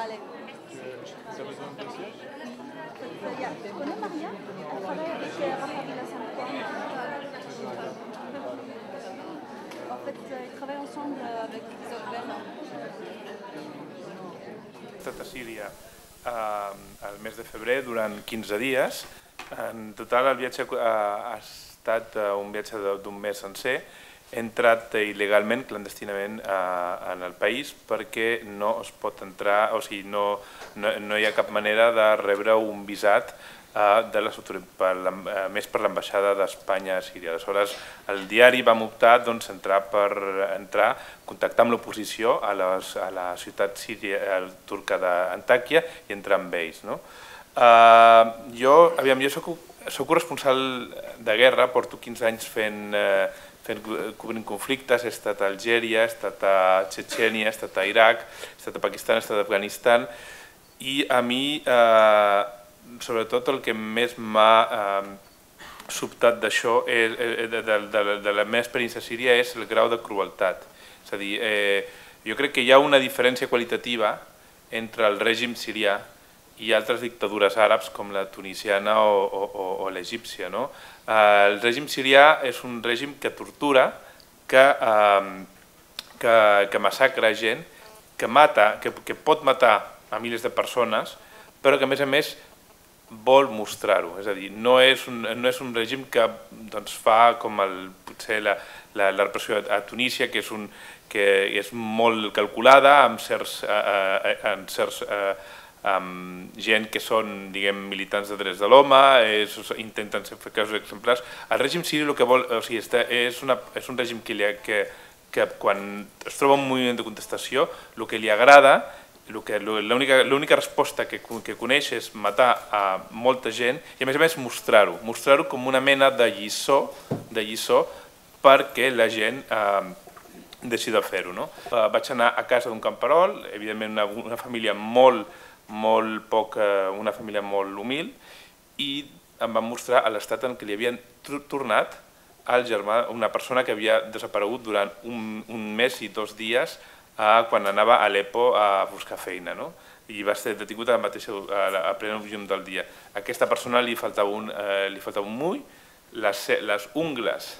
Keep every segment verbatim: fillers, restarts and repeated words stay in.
Vale. Tu as besoin de siège? Yeah. Tu connais Maria? Elle travaille avec Rafa Villa-San-Juan. En fait, ils travaillent ensemble avec Isabel. He estat a Síria al mes de febrer durant quinze dies. En total el viatge ha estat un viatge d'un mes sencer. He entrat il·legalment, clandestinament en el país perquè no es pot entrar, o sigui, no, no, no hi ha cap manera de rebre un visat de les autoritats, més per l'ambaixada d'Espanya a Síria. Aleshores, el diari vam optar doncs, entrar per entrar, contactar amb l'oposició a, a la ciutat síria, turca d'Antàquia i entrar amb ells. No? Uh, jo aviam, jo soc, soc corresponsal de guerra, porto quinze anys fent, uh, fent cobrint conflictes, he estat a Algèria, he estat a Txetxènia, he estat a Iraq, he estat a Pakistan, he estat a Afganistan, i a mi uh, sobretot el que més m'ha eh, sobtat d'això, de, de, de, de la meva experiència a Síria, és el grau de crueltat. És a dir, eh, jo crec que hi ha una diferència qualitativa entre el règim sirià i altres dictadures àrabs com la tunisiana o, o, o l'egípcia. No? Eh, el règim sirià és un règim que tortura, que, eh, que, que massacra gent, que mata, que, que pot matar a milers de persones, però que a més a més vol mostrar-ho, és a dir, no és un, no és un règim que doncs, fa com el, potser la, la, la repressió a Tunísia, que és, un, que és molt calculada, amb certs, eh, amb certs eh, amb gent que són, diguem, militants de drets de l'home, intenten fer casos exemplars. El règim siri el que vol, o sigui, és, una, és un règim que, li, que, que quan es troba un moviment de contestació, el que li agrada, l'única resposta que, que coneix és matar a molta gent i a més a més mostrar-ho, mostrar-ho com una mena de lliçó, de lliçó perquè la gent eh, deixi de fer-ho. No? Eh, vaig anar a casa d'un camperol, evidentment una, una família molt, molt poc, una família molt humil, i em van mostrar l'estat en què li havien tornat al germà, una persona que havia desaparegut durant un, un mes i dos dies quan anava a Aleppo a buscar feina, no? I va ser detingut a, mateixa, a plena llum del dia. A aquesta persona li faltava un, eh, li faltava un mull, les, les ungles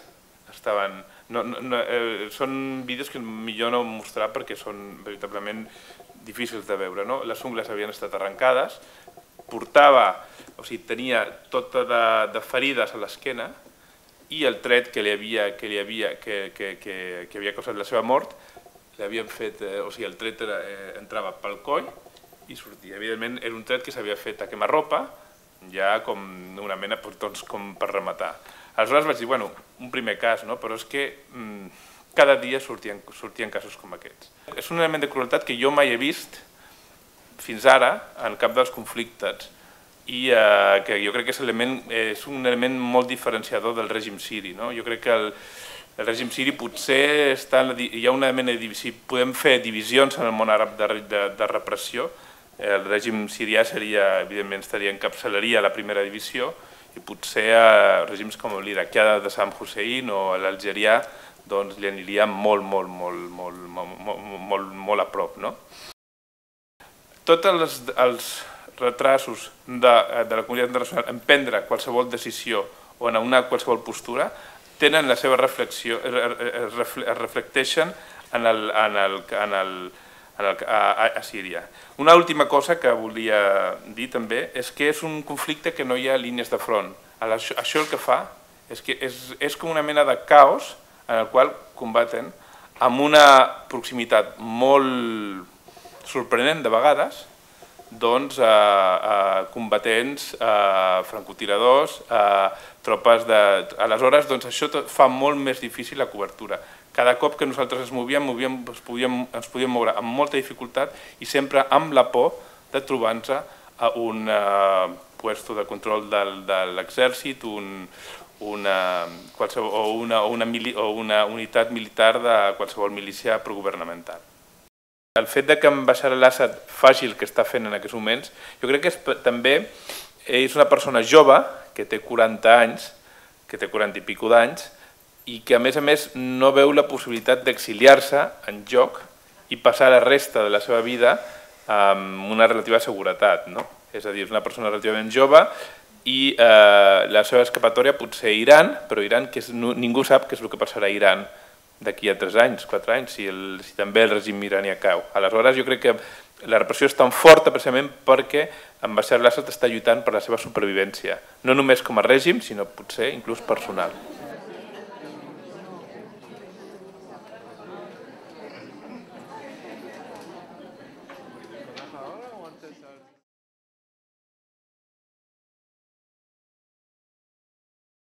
estaven... No, no, eh, són vídeos que millor no mostrar perquè són veritablement difícils de veure. No? Les ungles havien estat arrencades, portava, o sigui, tenia tota de, de ferides a l'esquena i el tret que li havia, que li havia, que, que, que, que havia causat la seva mort l'havien fet, o sigui, el tret era, eh, entrava pel coll i sortia. Evidentment, era un tret que s'havia fet a quemarropa, ja com una mena, doncs, com per rematar. Aleshores vaig dir, bueno, un primer cas, no? Però és que mm, cada dia sortien, sortien casos com aquests. És un element de crueltat que jo mai he vist fins ara en cap dels conflictes i eh, que jo crec que és, element, és un element molt diferenciador del règim siri. No? Jo crec que el, El règim siri potser està en la, hi ha una mena de divisió, podem fer divisions en el món àrab de, de, de repressió. El règim sirià seria, evidentment, estaria encapçalaria la primera divisió i potser a règims com l'iraquià de Saddam Hussein o l'algerià doncs li aniria molt, molt, molt, molt, molt, molt, molt a prop. No? Tots els, els retrasos de, de la comunitat internacional en prendre qualsevol decisió o en anar qualsevol postura tenen la seva reflexió, es reflecteixen en el, en el, en el, en el, a, a Síria. Una última cosa que volia dir també és que és un conflicte que no hi ha línies de front. Això, això el que fa és que és, és com una mena de caos en el qual combaten amb una proximitat molt sorprenent de vegades, doncs, a, a combatents, a francotiradors, a tropes de... Aleshores, doncs, això fa molt més difícil la cobertura. Cada cop que nosaltres ens movíem, movíem ens, podíem, ens podíem moure amb molta dificultat i sempre amb la por de trobar-nos a un uh, puesto de control de, de l'exèrcit, un, una, qualsevol, o, una, o, una mili, o una unitat militar de qualsevol milícia progovernamental. El fet que en Bashar al-Assad faci el que està fent en aquests moments, jo crec que és, també és una persona jove, que té quaranta anys, que té quaranta i pico d'anys, i que a més a més no veu la possibilitat d'exiliar-se en joc i passar la resta de la seva vida amb una relativa seguretat, no? És a dir, és una persona relativament jove i eh, la seva escapatòria potser a Iran, però Iran, que és, no, ningú sap què és el que passarà a Iran d'aquí a tres anys, quatre anys, si, el, si també el règim iranià cau. Aleshores, jo crec que la repressió és tan forta precisament perquè en Bashar al-Assad està lluitant per la seva supervivència, no només com a règim, sinó potser inclús personal.